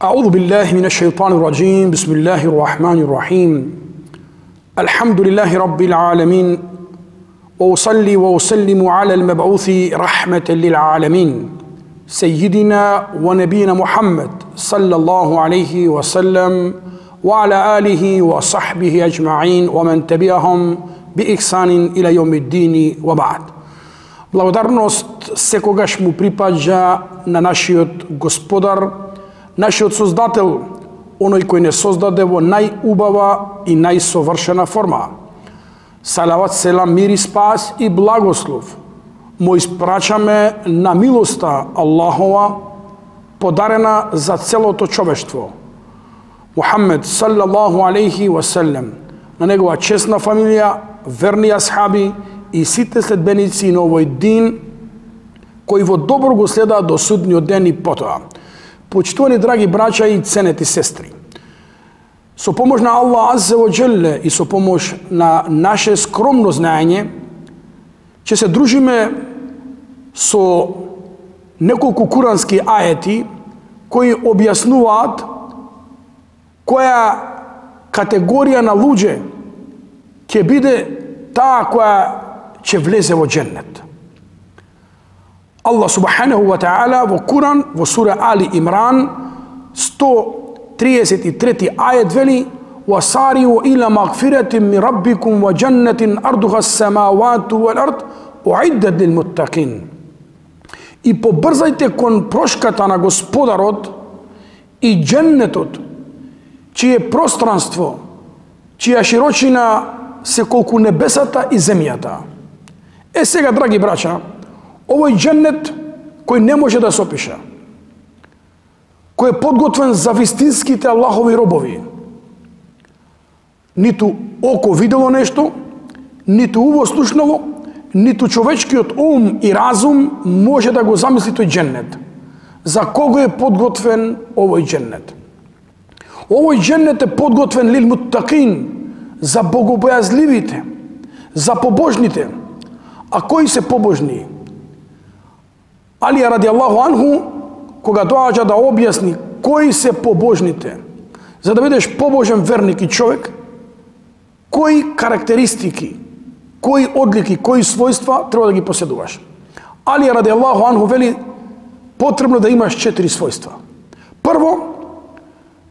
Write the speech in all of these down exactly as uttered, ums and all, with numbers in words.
أعوذ بالله من الشيطان الرجيم بسم الله الرحمن الرحيم الحمد لله رب العالمين وأصلي وأسلم على المبعوث رحمة للعالمين سيدنا ونبينا محمد صلى الله عليه وسلم وعلى آله وصحبه أجمعين ومن تبعهم بإحسان إلى يوم الدين وبعد. Благодарност секогаш му припаѓа на нашиот Господар, нашиот Создател, оној кој не создаде во најубава и најсовршена форма. Салават, селам, мир и спас и благослов му испрачаме на милоста Аллахова, подарена за целото човештво. Мухаммед саллаллаху алейхи ва селем, на негова честна фамилија, верни асхаби и сите следбеници на овој дин, кои во добро го следаат до судниот ден и потоа. Почитувани драги браќа и ценети сестри, со помош на Аллах аззе ва джелле и со помош на наше скромно знаење, ќе се дружиме со неколку курански ајети кои објаснуваат која категорија на луѓе ќе биде таа која ќе влезе во дженнет. Allah subhanahu wa ta'ala во Куран, во сура Али Имран, сто тридесет и трети ајет вели: وَسَارِعُوا إِلَى مَغْفِرَةٍ مِّن رَبِّكُمْ وَجَنَّةٍ أَرْضُهَا السَّمَاوَاتُ وَالْأَرْضُ أُعِدَّتْ لِلْمُتَّقِينَ. И побрзајте кон прошката на Господарот и дженнетот, чие пространство, чија широчина се колку небесата и земјата. Е сега, драги браќа, овој дженнет кој не може да се опише, кој е подготвен за вистинските Аллахови робови. Ниту око видело нешто, ниту уво слушнало, ниту човечкиот ум и разум може да го замисли тој дженнет. За кого е подготвен овој дженнет? Овој дженнет е подготвен лил муттакин, за богобојазливите, за побожните. А кои се побожни? Алија радијаллаху анху, кога доаѓа да објасни кои се побожните, за да бидеш побожен верник и човек, кои карактеристики, кои одлики, кои својства треба да ги поседуваш. Алија радијаллаху анху вели потребно да имаш четири својства. Прво,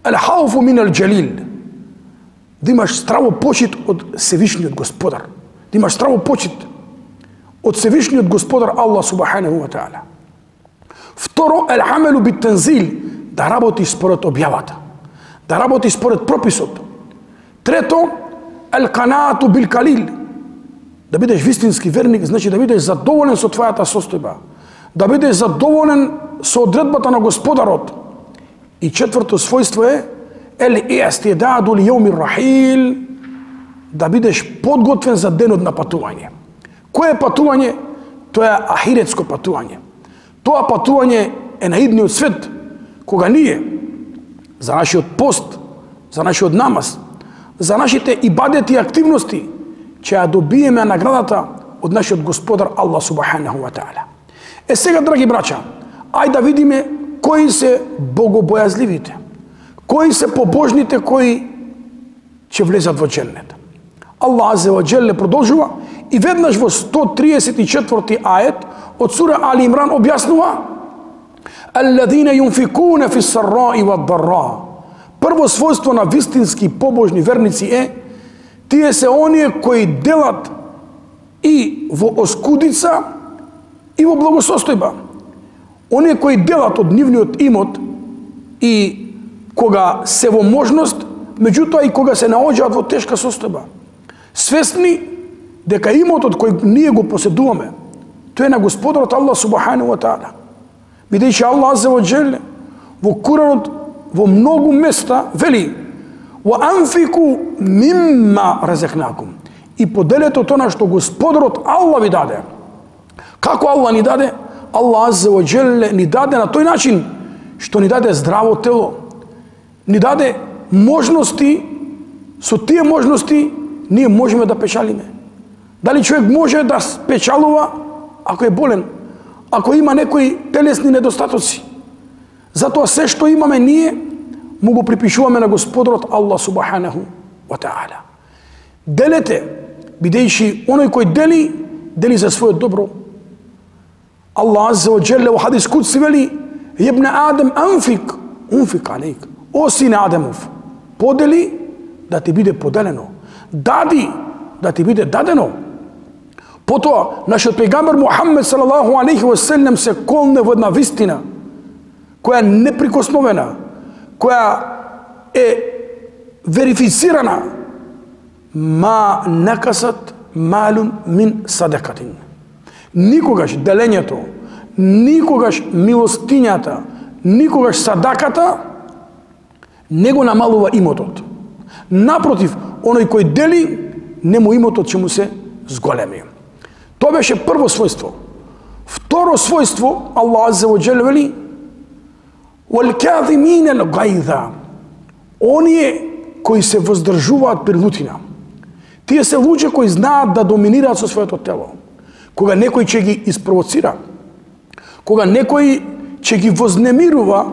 ал-хауфу мин ал-џалил, да имаш страво почит од Севишниот Господар, да имаш страво почит од Севишниот Господар Аллах субханаху ва таала. Второ, ал-амелу бит-танзил, да работиш според објавата, да работиш според прописот. Трето, ал-канаату бил-калил, да бидеш вистински верник, значи да бидеш задоволен со твојата состојба, да бидеш задоволен со одредбата на Господарот. И четврто својство е ел-иъстидаду ли јаумир рахил, да бидеш подготвен за денот на патување. Кое е патување? Тоа е ахиретско патување. Тоа патување е на идниот свет, кога ние за нашиот пост, за нашиот намаз, за нашите ибадети и активности ќе ја добиеме наградата од нашиот Господар Аллах субханаху ва таала. Е сега, драги браќа, ајде да видиме кои се богобојазливите, кои се побожните кои ќе влезат во дженнет. Аллах аззе ва џелле продолжува и веднаш во сто тридесет и четврти ајет од сура Али Имран објаснува: алладина юнфикуна фи сарраи ва дарра. Прво својство на вистински побожни верници е тие се оние кои делат и во оскудица и во благосостојба. Оние кои делат од нивниот имот и кога се во можност, меѓутоа и кога се наоѓаат во тешка состојба. Свесни дека имотот кој ние го поседуваме, тој е на Господарот Аллах субханаху ва таала. Бидејќи Аллах аззе ва џелле во Куранот во многу места вели: "Ва анфику мимма разекнакум", и поделете од она што Господарот Аллах ви даде. Како Аллах ни даде? Аллах аззе ва џелле ни даде на тој начин што ни даде здраво тело, ни даде можности, со тие можности ние можеме да печалиме, Дали човек може да спечалува ако е болен, ако има некои телесни недостатоци. Затоа се што имаме ние, му го припишуваме на Господарот Аллах субханаху ва таала. Делете, бидејќи оној кој дели, дели за својот добро. Аллах азза ва джелле во хадис кудси вели: "Ибн Адам анфик, унфик алейк." О сине Адамов, подели да ти биде поделено. Дади да ти биде дадено. Потоа, нашиот пејгамбер Мухаммед салаллаху алейхи ва селем се колне во една вистина, која е неприкосновена, која е верифицирана: ма накасат малун мин садакатин. Никогаш делењето, никогаш милостињата, никогаш садаката не го намалува имотот. Напротив, оној кој дели, нему имотот ќе му се зголеми. Тоа беше прво својство. Второ својство, Аллах азза ва џел вели: "Вал-каазимина ал-гайза." Оние кои се воздржуваат при лутина. Тие се луѓе кои знаат да доминираат со своето тело. Кога некој ќе ги испровоцира, кога некој ќе ги вознемирува,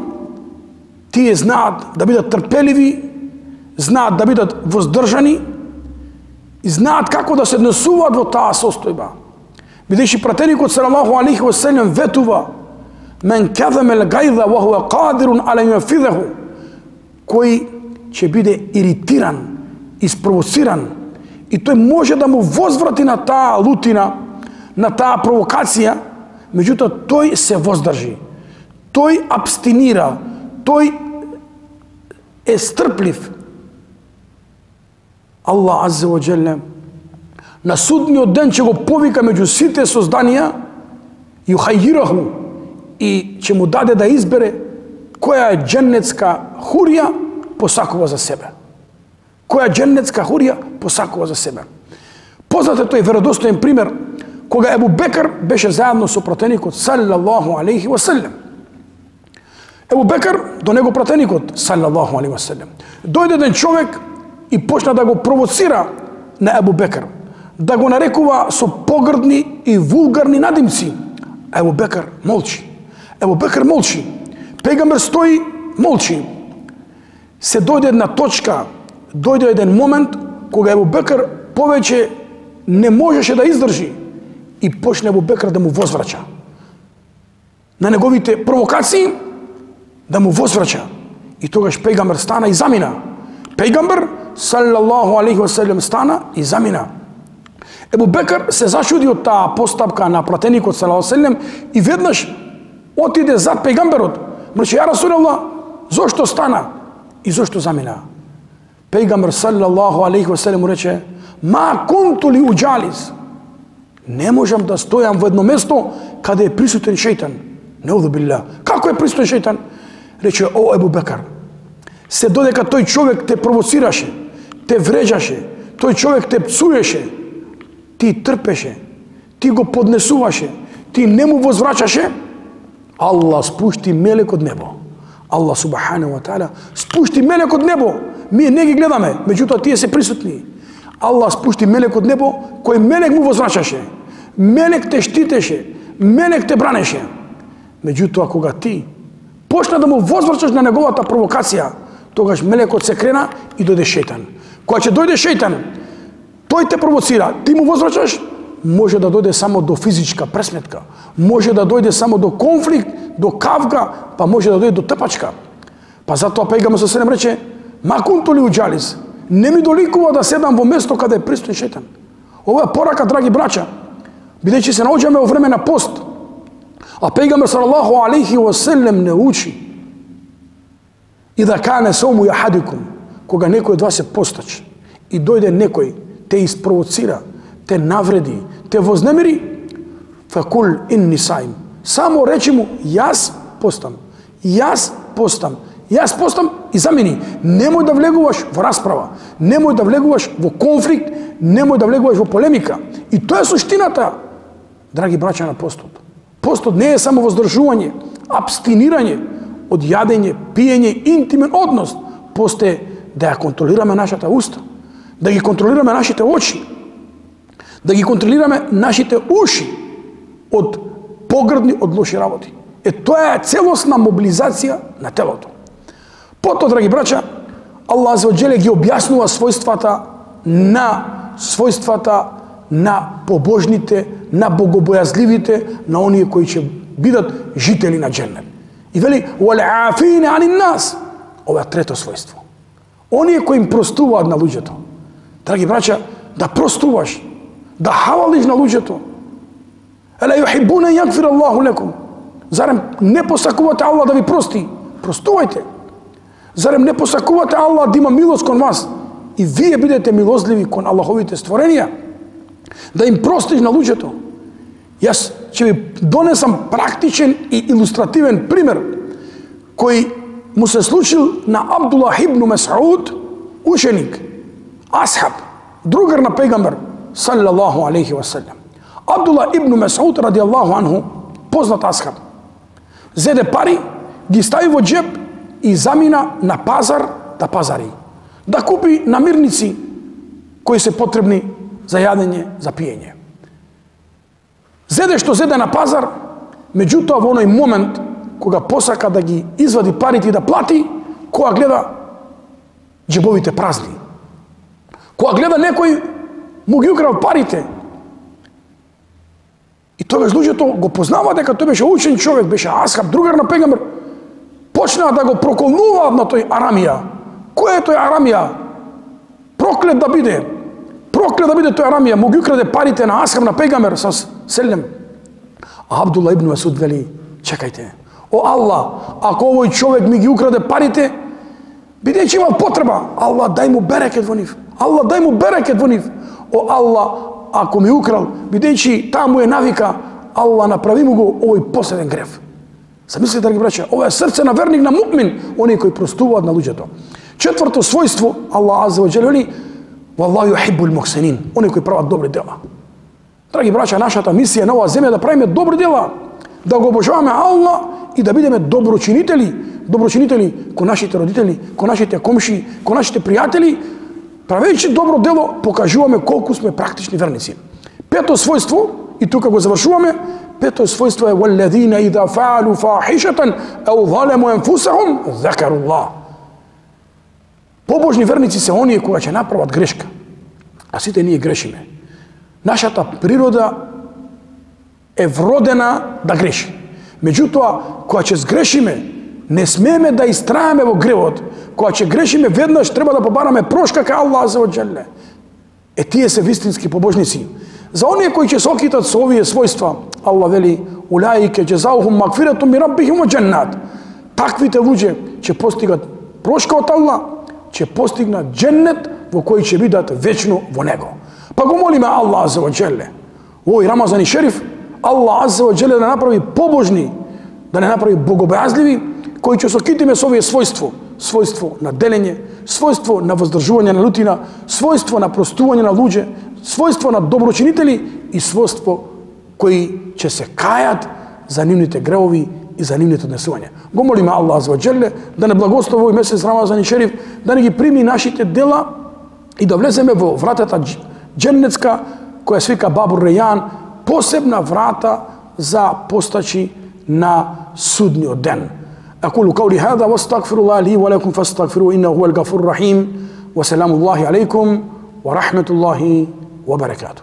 тие знаат да бидат трпеливи, знаат да бидат воздржани и знаат како да се однесуваат во таа состојба. Бидејќи пратеникот салаллаху алейхи ва селем ветува: "Мен казама ал-гайза ва хува қадирун ала юнфидаху." Кој ќе биде иритиран, испровоциран и тој може да му возврати на таа лутина, на таа провокација, меѓутоа тој се воздржи. Тој абстинира, тој е стрплив. Аллах азза ва џелле на судниот ден ќе го повика меѓу сите созданија, юхајираху, и ќе му даде да избере која е џеннетска хурија посакува за себе. Која џеннетска хурија посакува за себе. Познат е тој веродостоен пример кога Ебу Бекр беше заедно со пратеникот салаллаху алейхи ва селем. Ебу Бекр до него пратеникот салаллаху алейхи ва селем. Дојде еден човек и почна да го провоцира на Ебу Бекр, да го нарекува со погрдни и вулгарни надимци. Ебу Бекр молчи. Ебу Бекр молчи. Пејгамбер стои, молчи. Се дојде една точка, дојде еден момент кога Ебу Бекр повеќе не можеше да издржи и почне Ебу Бекр да му возврача. На неговите провокации да му возврача. И тогаш пејгамбер стана и замина. Пејгамбер салаллаху алейхи ва селем стана и замина. Ебу Бекр се зачуди од таа постапка на пратеникот салаллаху алейхи ва селем и веднаш отиде зад пејгамберот. Рече: "Ја Расулаллах, зошто стана и зошто замина?" Пејгамбер салаллаху алейхи ва селем му рече: "Ма кунту ли уџалис." Не можам да стојам во едно место каде е присутен шејтан. Неуду билла. Како е присутен шејтан? Рече: "О Ебу Бекр, се додека тој човек те провоцираше, те вреđаше, тој човек те пцуеше, ти трпеше, ти го поднесуваше, ти не му возврачаше, Аллах спушти мелек од небо. Аллах субханаху ва таала спушти мелек од небо. Ние не ги гледаме, меѓутоа тие се присутни. Аллах спушти мелек од небо, кој мелек му возврачаше. Мелек те штитеше, мелек те бранеше. Меѓутоа кога ти почна да му возврачаш на неговата провокација, тогаш мелекот се крена и дојде шејтан. Кога ќе дојде шејтан, тој те провоцира, ти му возврачаш, може да дојде само до физичка пресметка, може да дојде само до конфликт, до кавга, па може да дојде до тепачка. Па затоа пејгамбер со селем рече: "Ма кунту ли уџалис." Не ми доликува да седам во место каде е присутен шејтан. Ова е порака, драги браќа, бидејќи се наоѓаме во време на пост. А пејгамбер салаллаху алейхи ва селем не учи: "Ида кане сауму јахадикум", кога некој од вас е постач и дојде некој, те испровоцира, те навреди, те вознемири, факул инни саим. Само речи му: "Јас постам, јас постам, јас постам" и замени. Немој да влегуваш во расправа, немој да влегуваш во конфликт, немој да влегуваш во полемика. И тоа е суштината, драги браќа, на постот. Постот не е само воздржување, абстинирање од јадење, пиење, интимен однос. Пост е да ја контролираме нашата уста, да ги контролираме нашите очи, Да ги контролираме нашите уши од погрдни, од лоши работи. Е, тоа е целосна мобилизација на телото. Потоа, драги браќа, Аллах азza wa jalla ги објаснува својствата на својствата на побожните, на богобојазливите, на оние кои ќе бидат жители на дженнет. И вели: "Вал-афина анин нас." Ова е трето својство. Оние кои им простуваат на луѓето. Драги браќа, да простуваш, да хавалиш на луѓето. Ела юхибуна јагфир Аллаху лекум. Зарем не посакувате Аллах да ви прости? Простувајте. Зарем не посакувате Аллах да има милост кон вас? И вие бидете милозливи кон Аллаховите створенија? Да им простиш на луѓето. Јас ќе ви донесам практичен и илустративен пример кој му се случил на Абдуллах ибн Мес'уд, ученик, асхаб, другар на пегамбер саллаллаху алейхи ва саллям. Абдуллах ибн Мес'уд радијаллаху анху, познат асхаб, зеде пари, ги стави во джеб и замина на пазар да пазари, да купи намирници кои се потребни за јадење, за пиење. Зеде што зеде на пазар, меѓутоа во оној момент кога посака да ги извади парите и да плати, кога гледа джебовите празни. Кога гледа некој му ги украл парите. И тогаш луѓето го познава дека тој беше учен човек, беше асхаб, другар на пегамбер. Почнаа да го проколнуваат на тој Арамија. Кој е тој Арамија? Проклет да биде. Проклет да биде тој Арамија. Му ги украде парите на асхаб, на пегамбер со селем. А Абдуллах ибн Мес'уд вели: чекајте. О Аллах, ако овој човек ми ги украде парите, бидејќи имал потреба, Аллах дај му берекет во нив. Аллах дај му берекет во нив. О Аллах, ако ми украл, бидејќи таа му е навика, Аллах направи му го овој последен грев. Замислите, драги браќа, ова е срце на верник, на муъмин, оние кои простуваат на луѓето. Четврто својство, Аллах азza wa jalla вели: "Валлаху юхиббул мухсинин", оние кои прават добри дела. Драги браќа, нашата мисија на оваа земја е да правиме добри дела, да го обожаваме Аллах и да бидеме доброчинители, доброчинители кон нашите родители, кон нашите комши, кон нашите пријатели. Правејќи добро дело, покажуваме колку сме практични верници. Пето својство, и тука го завршуваме, пето својство е: "Валлазина ида фаалу фахишатан ау залему анфусахум закаруллах." Побожни верници се оние кога ќе направат грешка, а сите ние грешиме. Нашата природа е вродена да греши. Меѓутоа, кога ќе сгрешиме, не смееме да истраеме во гревот. Кога ќе грешиме веднаш, треба да побараме прошка кај Аллах азza wa jalla. Е, тие се вистински побожници. За оние кои ќе се окитат со овие својства, Аллах вели: "Улаика џазаухум магфиратун мин раббихим ва џаннат." Таквите луѓе ќе постигат прошка од Аллах, ќе постигнат дженнет во кој ќе бидат вечно во него. Па го молиме Аллах азza wa jalla, овој Рамазан и Шериф, Аллах азza wa jalla да направи побожни, да не направи богобојазливи, кои ќе се окитиме со овие својство, својство на делење, својство на воздржување на лутина, својство на простување на луѓе, својство на доброчинители и својство кои ќе се кајат за нивните гревови и за нивните однесувања. Го молиме Аллах азza wa jalla да не благослови овој месец Рамазан и Шериф, да не ги прими нашите дела и да влеземе во вратата дженнетска која се вика Бабур Рејан, посебна врата за постачи на судниот ден. أقول قولي هذا واستغفر الله لي ولكم فاستغفروه إنه هو الغفور الرحيم وسلام الله عليكم ورحمة الله وبركاته.